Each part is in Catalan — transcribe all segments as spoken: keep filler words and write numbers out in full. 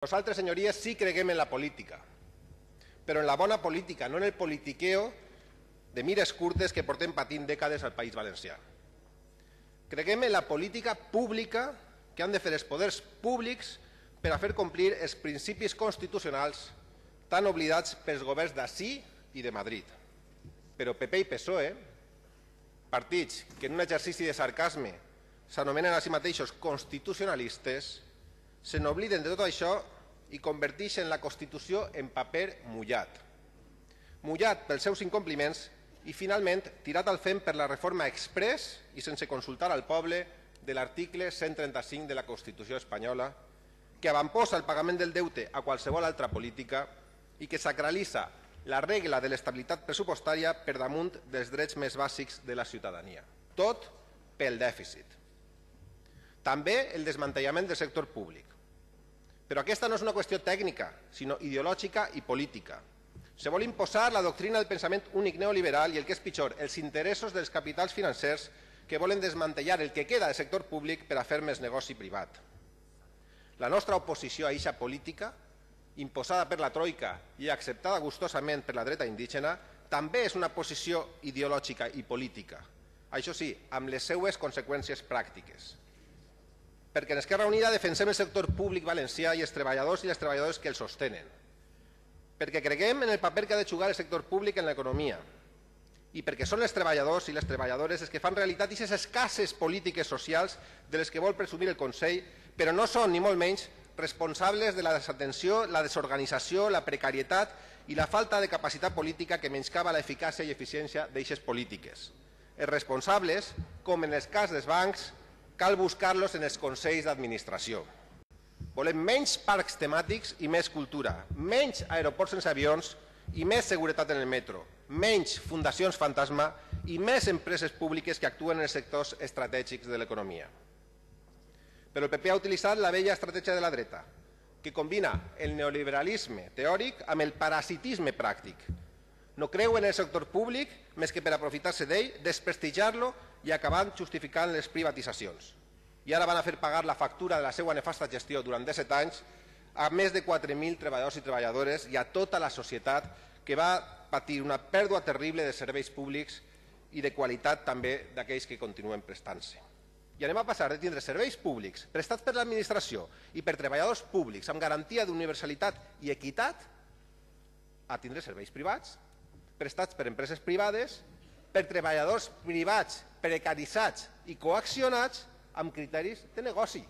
Nosaltres, senyories, sí creguem en la política, però en la bona política, no en el politiqueo de mires curtes que portem patint dècades al País Valencià. Creguem en la política pública que han de fer els poders públics per a fer complir els principis constitucionals tan oblidats pels governs d'ací i de Madrid. Però P P i P S O E, partits que en un exercici de sarcasme s'anomenen a si mateixos constitucionalistes, se n'obliden de tot això i converteixen la Constitució en paper mullat. Mullat pels seus incompliments i, finalment, tirat al fem per la reforma exprés i sense consultar al poble de l'article cent trenta-cinc de la Constitució espanyola, que avantposa el pagament del deute a qualsevol altra política i que sacralitza la regla de l'estabilitat pressupostària per damunt dels drets més bàsics de la ciutadania. Tot pel dèficit. També el desmantellament del sector públic. Però aquesta no és una qüestió tècnica, sinó ideològica i política. Se vol imposar la doctrina del pensament únic neoliberal i, el que és pitjor, els interessos dels capitals financers que volen desmantellar el que queda del sector públic per a fer més negoci privat. La nostra oposició a eixa política, imposada per la Troika i acceptada gustosament per la dreta indígena, també és una posició ideològica i política. Això sí, amb les seues conseqüències pràctiques. Perquè en Esquerra Unida defensem el sector públic valencià i els treballadors i les treballadores que el sostenen. Perquè creguem en el paper que ha de jugar el sector públic en l'economia. I perquè són els treballadors i les treballadores els que fan realitat aquestes escasses polítiques socials de les que vol presumir el Consell, però no són, ni molt menys, responsables de la desatenció, la desorganització, la precarietat i la falta de capacitat política que menyscava l'eficàcia i eficiència d'aixes polítiques. Els responsables, com en el cas dels bancs, cal buscar-los en els consells d'administració. Volem menys parcs temàtics i més cultura, menys aeroports sense avions i més seguretat en el metro, menys fundacions fantasma i més empreses públiques que actuen en els sectors estratègics de l'economia. Però el P P ha utilitzat la vella estratègia de la dreta, que combina el neoliberalisme teòric amb el parasitisme pràctic. No creu en el sector públic més que per aprofitar-se d'ell, desprestigiar-lo i acabant justificant les privatitzacions. I ara van a fer pagar la factura de la seva nefasta gestió durant disset anys a més de quatre mil treballadors i treballadores i a tota la societat que va patir una pèrdua terrible de serveis públics i de qualitat també d'aquells que continuen prestant-se. I anem a passar de tindre serveis públics prestats per l'administració i per treballadors públics amb garantia d'universalitat i equitat a tindre serveis privats prestats per empreses privades, per treballadors privats precaritzats i coaccionats amb criteris de negoci.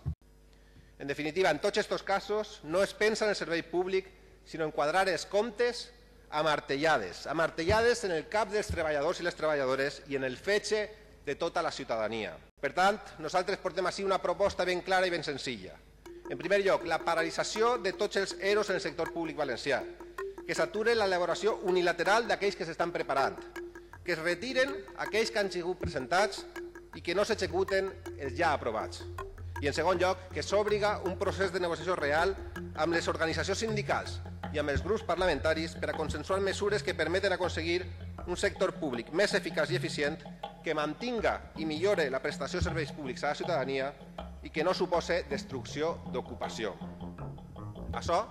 En definitiva, en tots aquests casos no es pensa en el servei públic, sinó en quadrar els comptes a martellades, a martellades en el cap dels treballadors i les treballadores i en el fetge de tota la ciutadania. Per tant, nosaltres portem així una proposta ben clara i ben senzilla. En primer lloc, la paralització de tots els E R Os en el sector públic valencià, que s'ature l'elaboració unilateral d'aquells que s'estan preparant, que es retiren aquells que han sigut presentats i que no s'executen els ja aprovats. I en segon lloc, que s'obliga un procés de negociació real amb les organitzacions sindicals i amb els grups parlamentaris per a consensuar mesures que permeten aconseguir un sector públic més eficaç i eficient que mantinga i millore la prestació de serveis públics a la ciutadania i que no supose destrucció d'ocupació. Això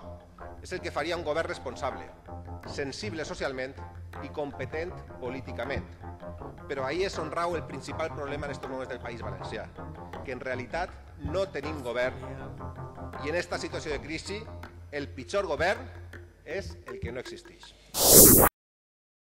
és el que faria un govern responsable, sensible socialment i competent políticament. Però ahí és on rau el principal problema en aquests moments del País Valencià, que en realitat no tenim govern i en aquesta situació de crisi el pitjor govern és el que no existeix.